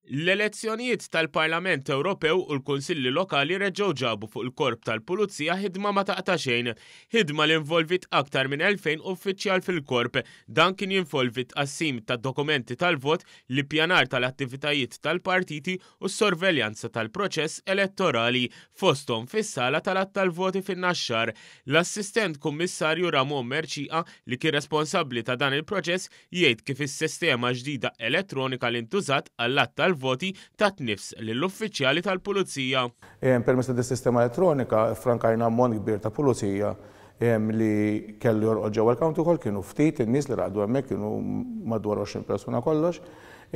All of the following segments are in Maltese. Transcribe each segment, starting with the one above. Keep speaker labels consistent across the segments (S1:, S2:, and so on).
S1: L-elezzjonijiet tal-Parlament Ewropew u l-Kunsilli Lokali reġgħu ġabu fuq il-Korp tal-Pulizija ħidma ma taqta' xejn. Ħidma li involviet aktar minn 2,000 uffiċjal fil-Korp. Dan kien jinvolvi t-tqassim ta' dokumenti tal-vot, l-ippjanar tal-attivitajiet tal-partiti u s-sorveljanza tal-proċess elettorali, fosthom fis-sala tal-għadd tal-voti fin-Naxxar. L-Assistent Kummissarju Ramon Mercieca, li kien responsabbli ta' dan il-proċess, Jgħid kif is-sistema ġdida elettronika li ntużat għall-għadd tal-voti tat nifs lill-uffiċjali tal-Pulizija.
S2: Permezz ta' dis-sistema elettronika ffrankajna ammont kbir ta' pulizija li kellu jorqod ġewwa l-county hall, kienu ftit in-nies li raqdu hemmhekk, kienu madwar 20 persuna kollox,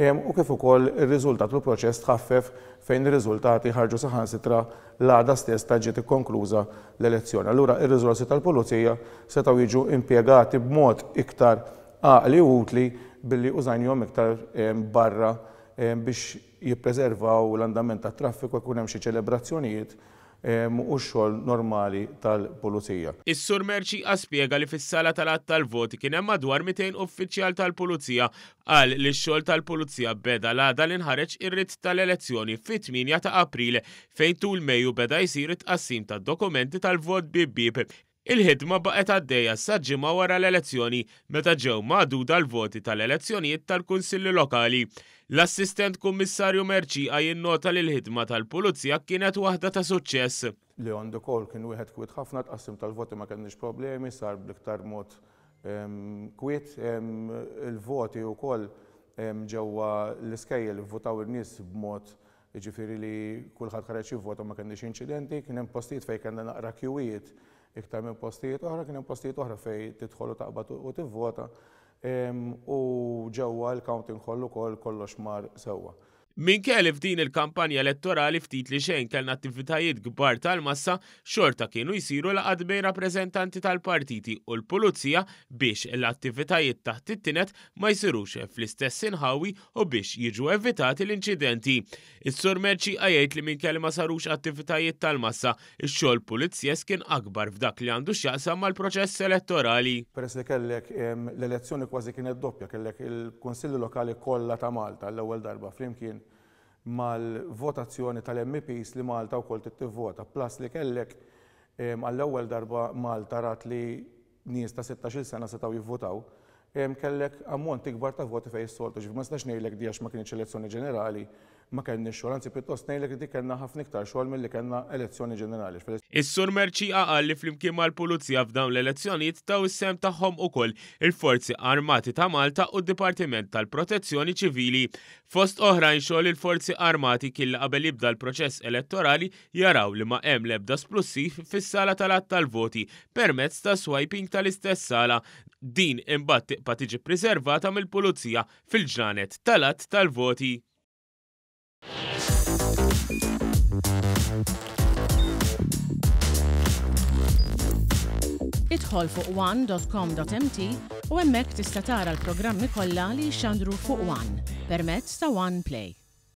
S2: u kif ukoll ir-riżultat u l-proċess tħaffef fejn ir-riżultati ħarġu saħansitra l-għada stess ta' ġiet ikkonkluża l-elezzjoni. Allura ir-riżorsi tal-pulizija setgħu jiġu impjegati b'mod iktar għaqli u utli billi użajnihom iktar barra biex jippreservaw l-andament tat-traffiku jekk ikun hemm xi ċelebrazzjonijiet u x-xogħol normali tal-pulizija.
S1: Is-Sur Mercieca spjega li fis-sala tal-għadd tal-voti kien hemm madwar 200 uffiċjal tal-pulizija. Qal li x-xogħol tal-pulizija beda l-għada li nħareġ ir-writ tal-elezzjoni fit-8 ta' April fejn tul Mejju beda jsir it-tqassim tad-dokumenti tal-vot bieb bieb. Il-ħidma baqgħet għaddejja sa ġimgħa wara l-elezzjoni meta ġew magħduda l-voti tal-elezzjonijiet tal-Kunsilli Lokali. L-Assistent Kummissarju Mercieca jinnota li l-ħidma tal-Pulizija kienet waħda ta' suċċess.
S2: Li on the call kien wieħed kwiet ħafna, tqassim tal-voti ma kellniex problemi, sar bl-iktar mod kwiet. Il-voti wkoll ġewwa l-iskejjel ivvutaw in-nies b'mod Jiġifieri li kulħadd ħareġ jivvota ma kellniex inċidenti, kien hemm postijiet fejn kellna naqra kjuwijiet iktar minn postijiet oħra, kien hemm postijiet oħra fejn tidħol u taqbad u tivvota u ġewwa l-counting hall ukoll kollox mar sewwa.
S1: Minkejja li f'din il-kampanja elettorali ftit li xejn kellna attivitajiet kbar tal-massa, xorta kienu jsiru laqgħat bejn rappreżentanti tal-partiti u l-pulizija biex l-attivitajiet taħt it-tined ma jsirux fl-istess inħawi u biex jiġu evitati l-inċidenti. Is-Sur Mercieca jgħid li minkejja li ma sarux attivitajiet tal-massa, ix-xogħol pulizjesk kien akbar f'dak li għandu x'jaqsam mal-proċess elettorali.
S2: Peress li kellek l-elezzjoni kważi kienet doppja, kellek il-Kunsilli Lokali kollha ta' Malta għall-ewwel darba flimkien mal-votazzjoni tal-MEPs li Malta wkoll trid tivvota, plus li kellek għall-ewwel darba Malta rat li nies ta' sittax-il sena setgħu jivvutaw, kellek ammont ikbar ta' voti fejn is-soltu. Ġifieri ma nistax ngħidlek di għax ma kinitx elezzjoni ġenerali ma kellniex xogħol, anzi pjuttost ngħidlek li dik kellna ħafna iktar xogħol milli kellna elezzjoni ġenerali.
S1: Is-Sur Mercieca qal li flimkien mal-Pulizija f'dawn l-elezzjonijiet taw is-sehem tagħhom ukoll il-Forzi Armati ta' Malta u d-Dipartiment tal-Protezzjoni Ċivili. Fost oħrajn xogħol il-Forzi Armati kien li qabel jibda l-proċess elettorali jaraw li ma hemm l-ebda splussiv fis-sala tal-għadd tal-voti permezz ta' swiping tal-istess sala. Din imbagħad tibqa' tiġi ppriservata mill-Pulizija fil-ġranet tal-għadd tal-voti.
S3: Idħol fuq one.com.mt u hemmhekk tista' tara l-programmi kollha li jixxandru fuq One permezz ta' One Play.